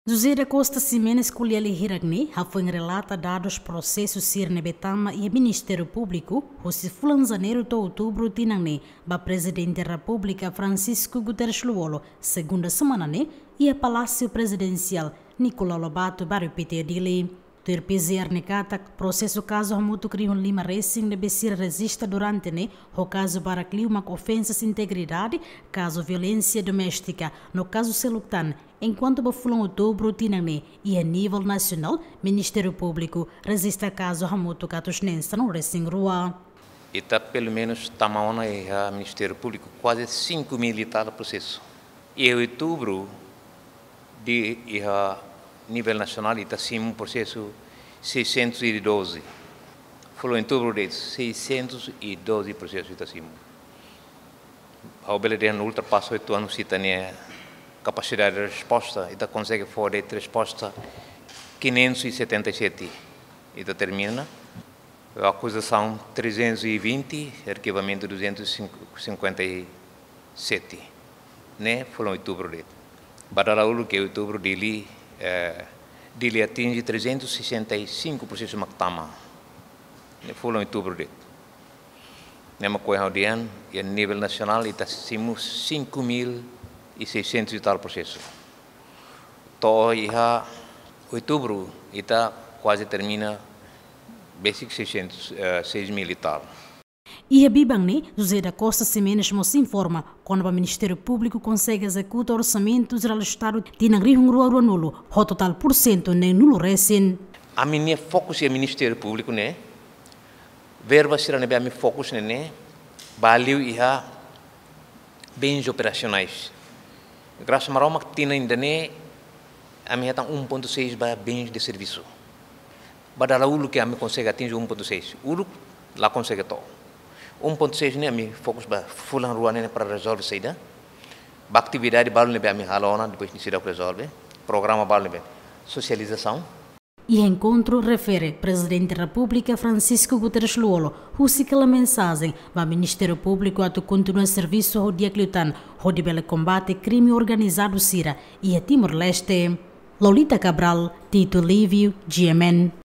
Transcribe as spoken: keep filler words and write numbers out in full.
José da Costa Ximenes ko'alia hirak ne'e hafoin relata dadus prosesu sira ne'ebé tama iha Ministériu Públiku husi fulan Janeiru to'o Outubru tinan ne'e ba Prezidente Repúblika Francisco Guterres Lú-Olo, segunda semana ne'e, iha Palásiu Prezidensiál Nicolau Lobato, bairru Pité, Dili. Tuir P G R ne'e katak, prosesu kazu hamutuk rihun lima resin ne'ebé sira rejista durante ne'e, ho kazu barak liu mak ofensas integridade, kazu violénsia doméstika, no kazu seluk tan, enkuantu ba fulan Outubru tinan ne'e, iha nivel nasionál, Ministériu Públiku rejista kazu hamutuk atus neen sanulu resin rua. Ita pelumenus tama ona iha Ministériu Públiku kuaze cinco mil e tal prosesu. Iha Outubru, iha nivel nasionál, ita simu prosesu seiscentos e doze. Fulan Outubru de'it, seiscentos e doze prosesu ita simu. Ha'u bele dehan ultrapasa oitu anus ita-nia kapasidade de resposta, ita konsege fó de'it resposta quinhentos e setenta e sete. Ita termina. Akuzasaun trezentos e vinte, arkivamentu duzentos e cinquenta e sete. Ne'e fulan Outubru de'it. Ba dala uluk iha Outubru Dili, eh, Dili atinje trezentos e sessenta e cinco prosesu mak tama. Ne'e fulan Outubru de'it. Ne'e mak ohin ha'u dehan, iha nivel nasionál ita simu cinco mil e seiscentos e tal prosesu. To'o iha Outubru, ita kuaze termina besik seiscentos, eh, seis mil e tal. Iha biban ne'e, José da Costa Ximenes mós informa kona-ba Ministériu Públiku konsege ezekuta Orsamentu Jerál Estadu tinan rihun rua ruanulu, ho totál pursentu neenulu resin. Ami-nia fokus iha Ministériu Públiku ne'e, verba sira ne'ebé ami fokus ne'e, ne'e, ba liu iha bens operasionais. Grasa Maromak tinan ida-ne'e, ami hetan um ponto seis ba bens de serviço. Ba dala uluk ke ami konsege atinje um ponto seis. Uluk la konsege to'o. Um ponto seis ne'e ami fokus ba fulan rua ne'e para rezolve saida. Ba atividade balu ne'ebé ami halo ona, depois ne'e seidauk rezolve. Programa balu ne'ebé. Sosializasaun. Iha enkontru refere, Prezidente Repúblika Francisco Guterres Lú-Olo husik hela mensajen ba Ministériu Públiku atu kontinua servisu ho di'ak liután, hodi bele kombate krime organizadu sira iha Timor-Leste. Lolita Cabral, Tito Livio, G M N.